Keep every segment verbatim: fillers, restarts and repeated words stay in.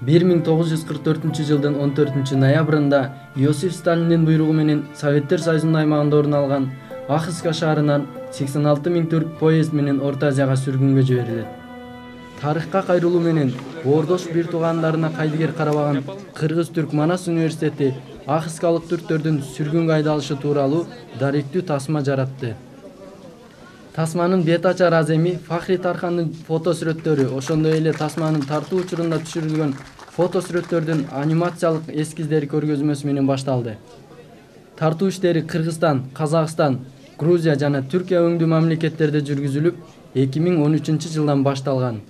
бир миң тогуз жүз кырк төртүнчү жылдын он төртүнчү ноябрында Иосиф Сталиндин буйругу менен Советтер Союзунун аймагында орун алган Ахыска шаарынан сексен алты миң түрк поезд менен Орто Азияга сүргүнгө жиберилет. Тарыхка кайрылуу менен боордош бир туугандарына кайдыгер карабаган Кыргыз-Түрк Манас университети ахыскалык түрктөрдүн сүргүнгө айдалышы тууралуу даректүү тасма жаратты. Тасманын бет ачар аземи Фахри Тархандын фото сүрөттөрү, ошондой эле тасманын тартуу учурунда түшүрүлгөн фото сүрөттөрдүн анимациялык эскиздери көргөзмөсү менен башталды. Тартуу иштери Кыргызстан, Казакстан, Грузия жана Түркия өңдүү мамлекеттерде жүргүзүлүп, эки миң он үчүнчү жылдан башталган.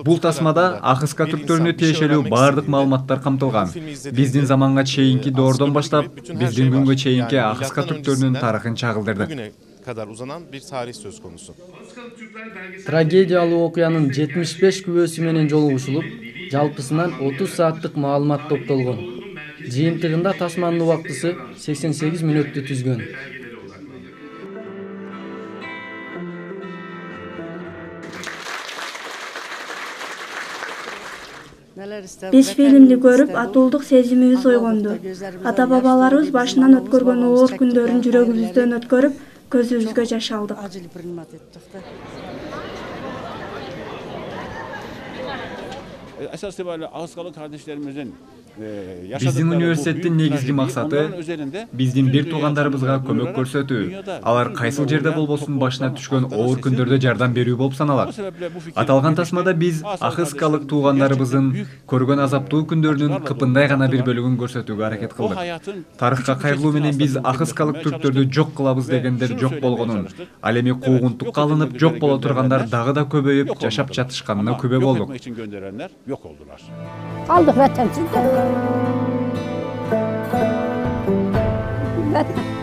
Бул тасмада ахыска түрктөрүнө тиешелүү баардык маалыматтар камтылган. Биздин заманга чейинки доордон баштап, биздин күнгө чейинки ахыска түрктөрүнүн тарыхын чагылдырдык. Трагедиялуу окуянын жетимиш беш күбөсү менен жолугушулуп, жалпысынан отуз сааттык маалымат топтолгон. Жыйынтыгында тасманын убактысы сексен сегиз мүнөттү түзгөн. Биз фильмди көрүп, атуулдук сезимибиз ойгонду. Ата-бабаларыбыз башынан өткөргөн оор күндөрүн жүрөгүбүздөн өткөрүп, көзүбүзгө жаш алдык. Биздин университеттин негизги максаты биздин бир туугандарыбызга көмөк көрсөтүү, алар кайсыл жерде болбосун башына түшкөн оор күндөрдө жардам берүү болуп саналат. Аталган тасмада биз ахыскалык туугандарыбыздын көргөн азаптуу күндөрүнүн кыпындай гана бир бөлүгүн көрсөтүүгө аракет кылдык. Тарыхка кайрылуу менен биз ахыскалык түрктөрдү жок кылабыз дегендер жок болгонун, ал эми куугунтукка алынып жок боло тургандар дагы да көбөйүп, жашап жатышканына күбө болдук. Kaldık vətensizler. Vətən.